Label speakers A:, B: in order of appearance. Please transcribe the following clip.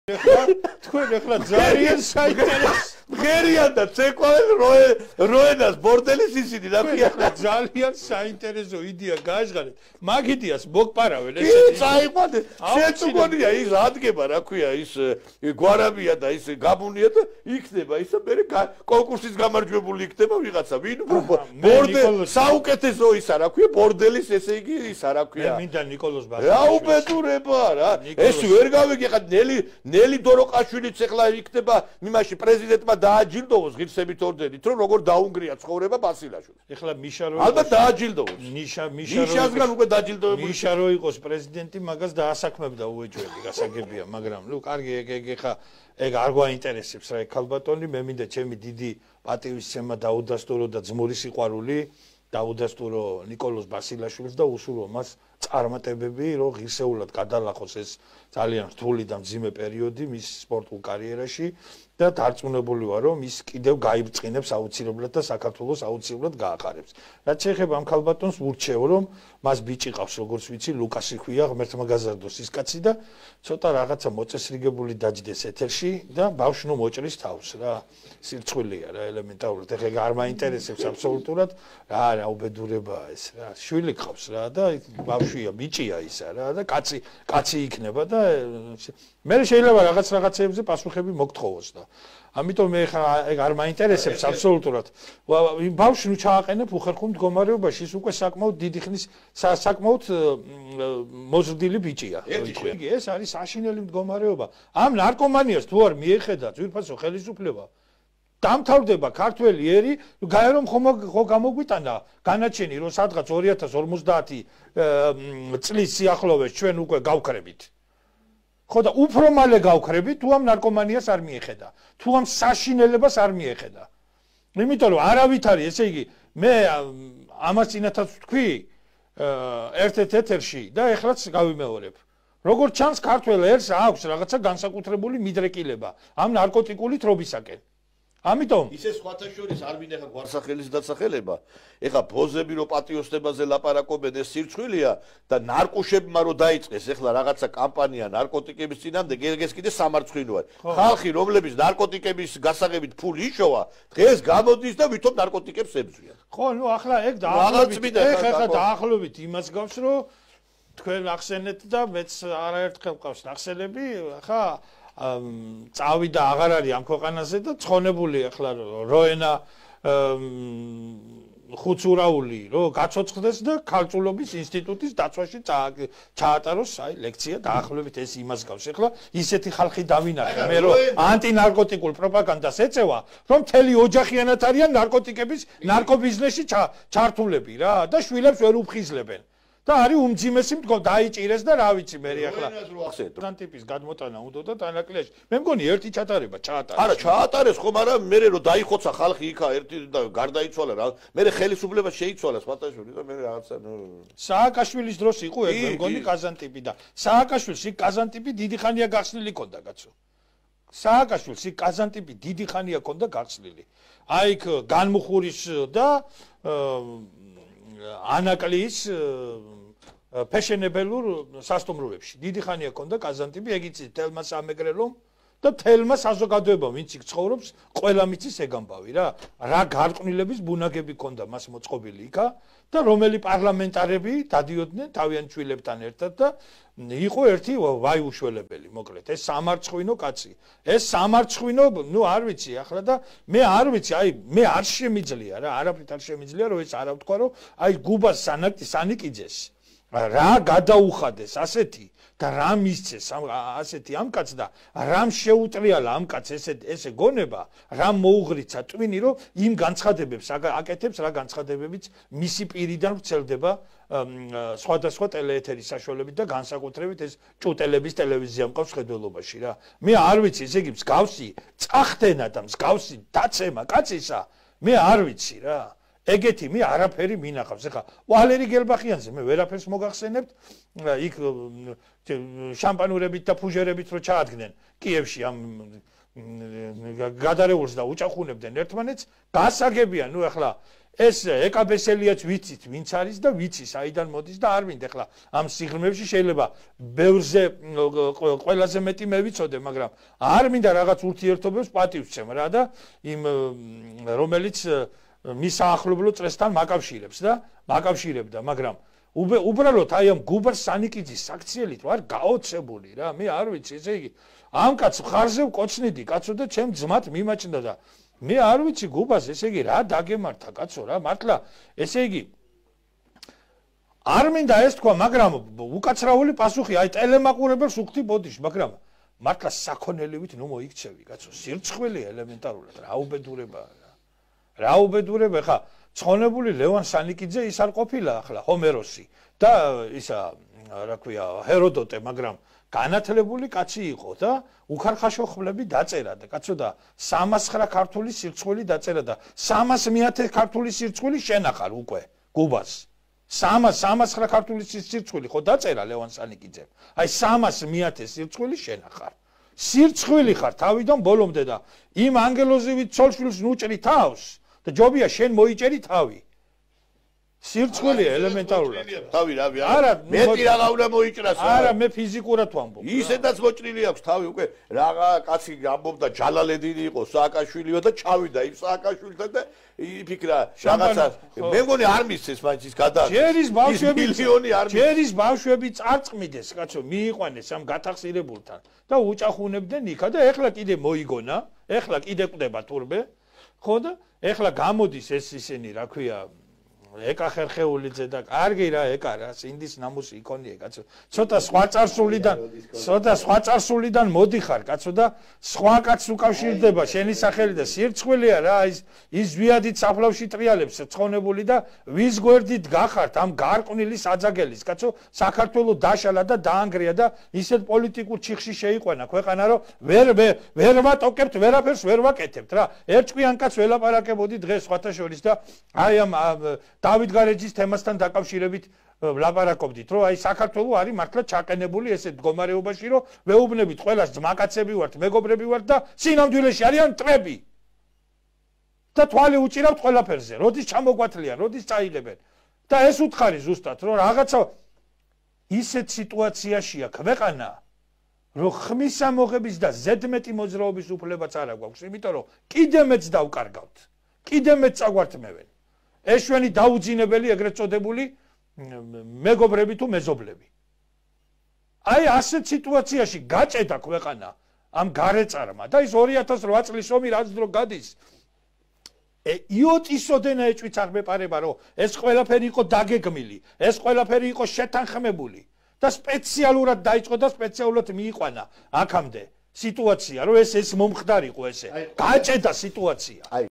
A: თქვენ ახლა ძალიან საინტერესო
B: მღერიან და ცეკვავენ როენას ბორდელის ისინი რა ქვია
A: ძალიან საინტერესო იდეა გააჟღარეთ მაგ იდეას მოგპარავენ
B: ესეთი წაიყვანე შეწუგონია ის ადგება რა ქვია ის გვარამია და ის გაბუნია და იქნება ისა მე კონკურსის გამარჯვებული იქნება ვიღაცა ვინ ბორდელი საუკეთესო ისა რა ქვია ბორდელის ესე იგი ისა რა ქვია
A: მე მინდა ნიკოლოზ ბასილიშვილი
B: რა უბედურება რა ეს ვერ გავიგე ხა ნელი დოროყაშვილიც ახლა იქნება იმაში პრეზიდენტმა დააჯილდოვოს ღირსებით ორდენით რომ როგორ დაუნგრია ცხოვრება ბასილაშვილს
A: ეხლა მიშა
B: ალბათ დააჯილდოვოს მიშასგან უკვე დაჯილდოვებული
A: მიშა რო იყოს პრეზიდენტი მაგას დაასაქმებდა უეჯველი გასაგებია მაგრამ ნუ კარგი ეგ ხა ეგ არ გვაინტერესებს რა ქალბატონი მე მინდა ჩემი დიდი პატივისცემა დაუდასტურო და ძმური სიყვარული დაუდასტურო ნიკოლოზ ბასილაშვილს და უსურვო მას წარმატებები რომ ღირსეულად გადალახოს ეს ძალიან რთული და მძიმე პერიოდი მის სპორტულ კარიერაში და დარწმუნებული ვარ რომ ის კიდევ გაიბრწყინებს აუცილებლად და საქართველოს აუცილებლად გაახარებს. რაც შეეხება ამ ქალბატონს ურჩევ რომ მას ბიჭი ყავს როგორც ვიცი ლუკასი ქვია ღმერთმა გაზარდოს ის კაცი და ცოტა რაღაცა მოწესრიგებული დაჯდეს ეთერში და ბავშვი ნუ მოჭრის თავს რა სირცხვილია რა ელემენტარულად ეხლა არ მაინტერესებს აბსოლუტურად რა უბედურებაა ეს რა შვილი ყავს რა და ბავშვია ბიჭია ისა რა და კაცი იქნება და მე შეიძლება რაღაცებზე პასუხები მოგთხოვოს და ამიტომ მე ხა ეგ არ მაინტერესებს აბსოლუტურად ბავშვი ნუ ჩააყენებ უხერხულ მდგომარეობაში ის უკვე საკმაოდ დიდი ხნის საკმაოდ მოზრდილი ბიჭია ეს არის საშინელი მდგომარეობა ამ ნარკომანიას თუ არ მიეხედა ძვირფასო ხელისუფლება დამთავრდება ქართველი ერი გაერომ ხო გამოგვიტანა განაჩენი რომ სადღაც 2050 წლის სიახლოვეს ჩვენ უკვე გავქრებით ხო და უფრო მალე გავქრებით თუ ამ ნარკომანიას არ მიეხედა თუ ამ საშინელებას არ მიეხედა იმიტომ რომ არავითარი ესე იგი მე ამას წინათაც ვთქვი ერთ-ერთ ეთერში და ეხლაც გავიმეორებ როგორც ჩანს ქართველ ერს აქვს რაღაცა განსაკუთრებული მიდრეკილება ამ ნარკოტიკული თრობისაკენ ამიტომ
B: ისე სხვათა შორის არ მინახა გვარსახელის დასახელება ეხა ბოზები რო პატიოსნებაზე ლაპარაკობენ ეს სირცხვილია და ნარკუშებმა რო დაიწყეს ეხლა რაღაცა კამპანია ნარკოტიკების წინამდე ეს კიდე სამარცხვინოა ხალხი რომლებიც ნარკოტიკების გასაღებით ფული იშოვა დღეს გამოდის და ვითომ ნარკოტიკებს ებრძვიან
A: ხო ნუ ახლა ეგ დაახლოებით იმას გავს რომ თქვენ ახსენეთ და მეც არაერთხელ ყავს ნახსენები ხა წავიდა აღარ არის ამ ქვეყანაზე და ცხონებული ახლა როენა ხუცურაული რომ გაცოცხლდეს და ქალწულობის ინსტიტუტის დაცვაში ჩაატაროს აი ლექცია დაახლოებით ეს იმას გავს ახლა ისეთი ხალხი დავინახე მე რომ ანტინარკოტიკულ პროპაგანდას ეწევა რომ მთელი ოჯახიანად არიან ნარკოტიკების ნარკობიზნესში ჩართულები რა და შვილებს ვერ უფხიზლებენ და არის უმძიმესი დაიჭირეს და რა ვიცი მე ახლა ამ ტიპის გადმოტანა უნდა და თანაკლიაში მე მგონი ერთი ჩატარება ჩაატარეს
B: არა ჩაატარეს ხომ არა მე რო დაიხოცა ხალხი იქა ერთი და გარდაიცვალა რა მე ხელისუფლება შეიცვალა სპარტაშვილი და მე რაღაცა
A: სააკაშვილის დროს იყო ეგ მე მგონი კაზანტიპი და სააკაშვილს იქ კაზანტიპი დიდი ხანია გახსნილი ქონდა კაცო სააკაშვილს იქ კაზანტიპი დიდი ხანია ქონდა გახსნილი აი იქ განმუხურის და ანაკლის ფეშენებელურ სასტუმროებში დიდი ხანია ქონდა კაზანტიპი ეგ იცით თელმა სამეგრელომ და თელმა საზოგადოებამ ვინც იქ ცხოვრობს ყველა მიცის ეგ ამბავი რა გარყვნილების ბუნაგები ქონდა მას მოწყობილი იქა და რომელი პარლამენტარები დადიოდნენ თავიანთ შვილებთან ერთად და იყო ერთი ვაი უშველებელი მოკლედ ეს სამარცხვინო კაცი ეს სამარცხვინო ნუ არ ვიცი ახლა და მე არ ვიცი აი მე არ შემიძლია რა არაფრით არ შემიძლია რომ ეს არა ვთქვა რომ აი გუბას სანიკიძეს რა გადაუხადეს ასეთი და რა მისცეს ასეთი ამ კაცს და რამ შეუტრიალა ამ კაცს ესე გონება რამ მოუღრიცა ტვინი რომ იმ განცხადებებს აკეთებს რა განცხადებებიც მისი პირიდან ვრცელდება სხვადასხვა ტელეეთერის საშუალებით და განსაკუთრებით ეს ჭუტელების ტელევიზია მყავს ხედველობაში რა მე არ ვიცი ესე იგი მსგავსი წახდენა და მსგავსი დაცემა კაცისა მე არ ვიცი რა ეგეთი მე არაფერი მინახავს ეხლა ვალერი გელბახიანზე მე ვერაფერს მოგახსენებთ იქ შამპანურებით და ფუჟერებით რო ჩაადგნენ კიევში ამ გადარეულს და უჭახუნებდნენ ერთმანეთს, გასაგებია, ნუ ახლა ეს ეკაბესელიაც ვიცით, ვინც არის და ვიცი საიდან მოდის და არ მინდა ახლა ამ სიღრმეებში შეიძლება ბევრზე ყველაზე მეტი მე ვიცოდე, მაგრამ არ მინდა რაღაც ურთიერთობებს პატივს ვცემ რა და იმ რომელიც მის ახლობლო წრესთან მაკავშირებს და მაკავშირებდა, მაგრამ უბრალოდ აი ამ გუბარ სანიკიძის საქციელით ვარ გაოცებული რა, მე არ ვიცი, ესე იგი ამ კაც ხარზე ვკოცნიდი კაცო და ჩემ ძმათ მიმაჩნდა და მე არ ვიცი გუბას, ესე იგი რა დაგემართა კაცო რა, მართლა ესე იგი არ მინდა ეს თქვა, მაგრამ უკაცრაული პასუხი, აი ტელემაყურებელს უხდი ბოდიში, მაგრამ მართლა საქონელივით ნუ მოიქცევი კაცო, სირცხვილია ელემენტარულად, რა უბედურებაა რა. რა უბედურება, ხა ცხონებული ლევან სანიკიძე ის არ ყოფილა ახლა ჰომეროსი და ისა რა ქვია ჰეროდოტე, მაგრამ განათლებული კაცი იყო და უხარხაშო ხმლები დაწერა და კაცო და 309 ქართული სირცხვილი დაწერა და 300.000 ქართული სირცხვილი შენახარ უკვე გუბას 309 ქართული სირცხვილი ხო დაწერა ლევან სანიკიძემ, აი 300.000 სირცხვილი შენახარ, სირცხვილი ხარ თავიდან ბოლომდე და იმ ანგელოზივით ცოლშვილს ნუჭრი თავს და ჯობია შენ მოიჭერი თავი. სირცხვილია ელემენტარულად.
B: თავი რავი არა, მეტი რაღა უნდა მოიჭრას.
A: არა, მე ფიზიკურად ვამბობ.
B: ისედაც მოჭრილი აქვს თავი უკვე რაღა კაცი ამბობდა ჯალალედინი იყო, სააკაშვილიო და ჩავიდა იმ სააკაშვილთან და იფიქრა რაღაცა. მე მგონი არ მისცეს მაინც ის გადააჭრა. ჯერის ბავშვები წარწმიდეს, კაცო, მიიყვანეს ამ გათახსირებულთან და უჭახუნებდნენ იქა და ეხლა კიდე მოიგონა, ეხლა კიდე კვდება თურმე. ხო და ეხლა გამოდის ეს ისინი, რა ქვია, ეკა ხერხეულიძე და კარგი რა ეკა რა, სინდის ნამუსი იქონია კაცო. ცოტა სხვა წარსულიდან მოდიხარ კაცო და სხვა კაცს უკავშირდება შენი სახელი და სირცხვილია რა, ის ვიადით საფლავში ტრიალებს ცხონებული და ვის გვერდით გახართ ამ გარყვნილის აძაგელის კაცო, საქართველოს დაშალა და დაანგრია და ისეთ პოლიტიკურ ჩიხში შეიყვანა ქვეყანა, რომ ვერ ვატოკებთ, ვერაფერს ვერ ვაკეთებთ რა. ერთკვიან კაცს ველაპარაკებოდი დღეს სხვათა შორის და აი ამ დავით გარეჯის თემასთან დაკავშირებით ვლაპარაკობდით, რომ აი საქართველოს არის მართლა ჩაყენებული ესეთ მდგომარეობაში, რომ ვეუბნებით ყველას ძმაკაცები ვართ, მეგობრები ვართ და სინამდვილეში არიან მტრები. და თვალი უჭირავთ ყველაფერზე, როდის ჩამოგვათლიან, როდის წაიღებენ. და ეს უთხარი ზუსტად, რომ რაღაცა ისეთ სიტუაციაშია ქვეყანა, რომ ხმისა მოღების და ზედმეტი მოძრაობის უფლებაც არ აქვს, იმიტომ რომ კიდე მეც დავკარგავთ, კიდე მეც წაგვართმევენ. ეს ჩვენი დაუძინებელი ეგრეთ წოდებული მეგობრები თუ მეზობლები. აი ასეთ სიტუაციაში გაჭედა ქვეყანა ამ გარეწარმა და ის 2008 წლის ომი რაც დრო გადის. იოტისოდენა ეჭვიც არ მეპარება, რომ ეს ყველაფერი იყო დაგეგმილი, ეს ყველაფერი იყო შეთანხმებული და სპეციალურად დაიწყო და სპეციალურად მიიყვანა აქამდე სიტუაცია, რომ ეს მომხდარიყო ესე. გაჭედა სიტუაცია.